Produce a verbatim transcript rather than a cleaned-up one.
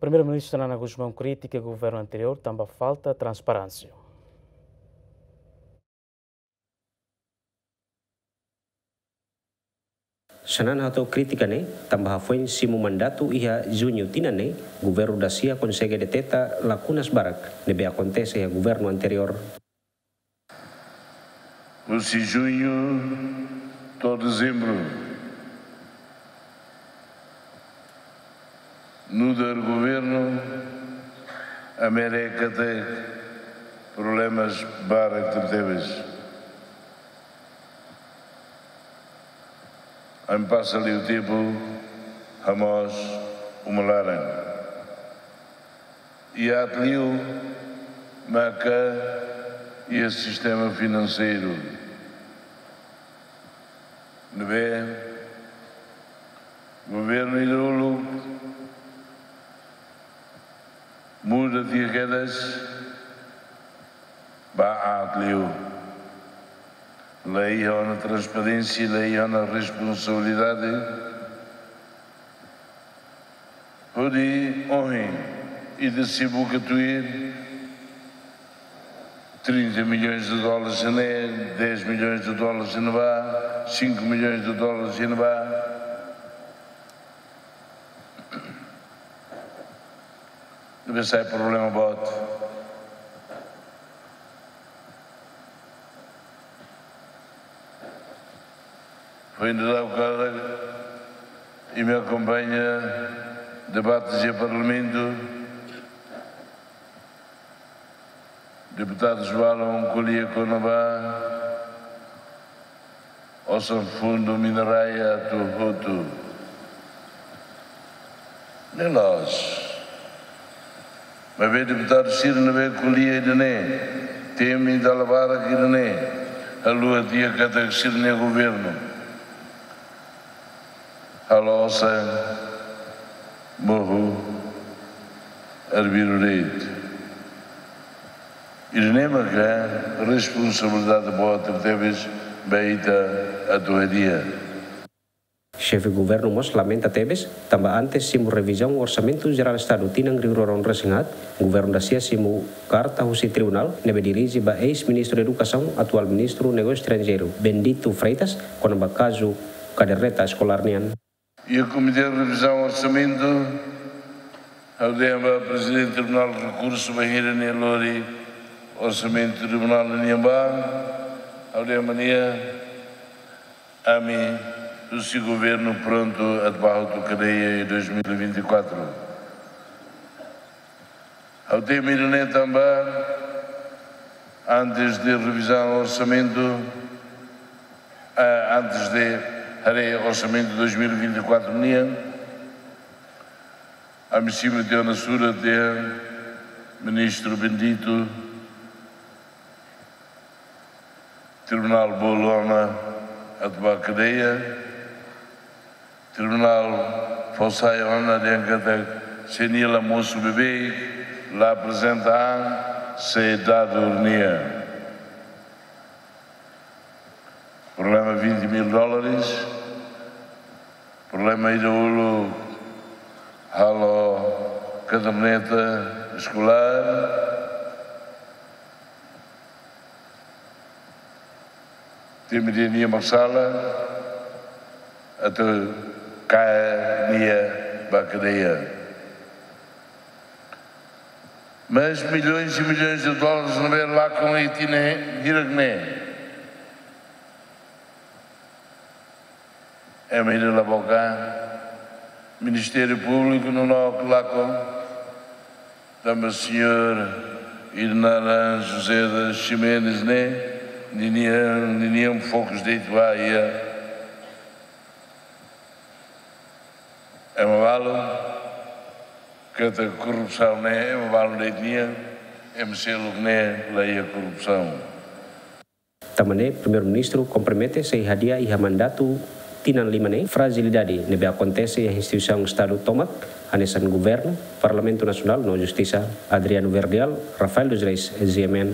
Primeiru-Ministru Xanana Gusmão kritika governu anteriór tanba falta transparénsia. Xanana hato'o krítika ne'e tanba hafoin simu mandatu iha Juñu tinan ne'e, governu dasia konsege deteta lakunas barak ne'ebé akontese iha governu anteriór. Husi Juñu to'o Dezembru, nu'udar governu, ami haree katak problemas barak tebetebes. Ami pasa liu tempu hamoos uma laran. I aat liu maka iha sistema finanseiru ne'ebé governu ida uluk muda tiha kedas, ba aat liu. La iha ona transparénsia, la iha ona responsabilidade. Hodi ohin ita sei buka tuir trinta milhões de dólares ne'e, dez milhões de dólares ne'ebá, cinco milhões de dólares ne'ebá. Ne'ebé sai problema boot. Foin dadauk karik imi akompaña debate iha Parlamentu. Deputadus balun ko'alia kona-ba osan fundu minerária atu hotu. Ne'e loos. Maibé deputadu sira ne'ebé ko'alia ida-ne'e, temi dala barak ida-ne'e, haluha tiha katak sira-nia governu halo osan mohu arbiru de'it. Ida-ne'e maka responsabilidade boot tebes ba ita atu hadi'a. Xefe governu mós lamenta tebes tanba antes simu revizaun Orsamentu Jerál Estadu tinan rihun rua ruanulu-resin-haat, governu dasia simu karta husi tribunál ne'ebé dirije ba eis-ministru Edukasaun, atuál ministru Negósiu Estranjeiru, Bendito Freitas, kona-ba kazu kaderneta eskolár nian. Iha Komité Revizaun Orsamentu, ha'u dehan ba Prezidente Tribunál Rekursu bainhira nia lori orsamentu tribunál nian ba, ha'u dehan ba nia, ami husi governu prontu atu bá hotu kadeia iha dois mil e vinte e quatro. Ha'u temi ida-ne'e tanba antes de revizaun orsamentu, ah, antes de haree orsamentu dois mil e vinte e quatro nian, ami simu tiha ona surat dehan Ministru Bendito, tribunál bolu ona atu bá kadeia, tribunál fó sai ona dehan katak se nia la mosu beibeik, la aprezenta an, sei dadu nia. Problema vinte mil dólares, problema ida uluk halo kaderneta eskolár, temi dehan nia mak sala, atu kaer nia ba kadeia. Mas milhões e milhões de dólares ne'ebé lakon iha tinan hirak ne'e. Ema ida la boka, Ministériu Públiku no nok lakon, tanba señór ida naran José das Ximenes ne'e, ninian, ninian fokus de'it ba iha. Ema balu katak korrupsaun ne'e ema balu de'it nian, ema seluk ne'e la iha korrupsaun. Tanba ne'e, Primeiru-Ministru kompromete sei hadi'a iha mandatu tinan lima ne'e frajilidade ne'ebé akontese iha instituisaun Estadu tomak, hanesan Governu, Parlamentu Nasionál no Justisa. Adriano Verdial, Rafael dos Reis, G M N.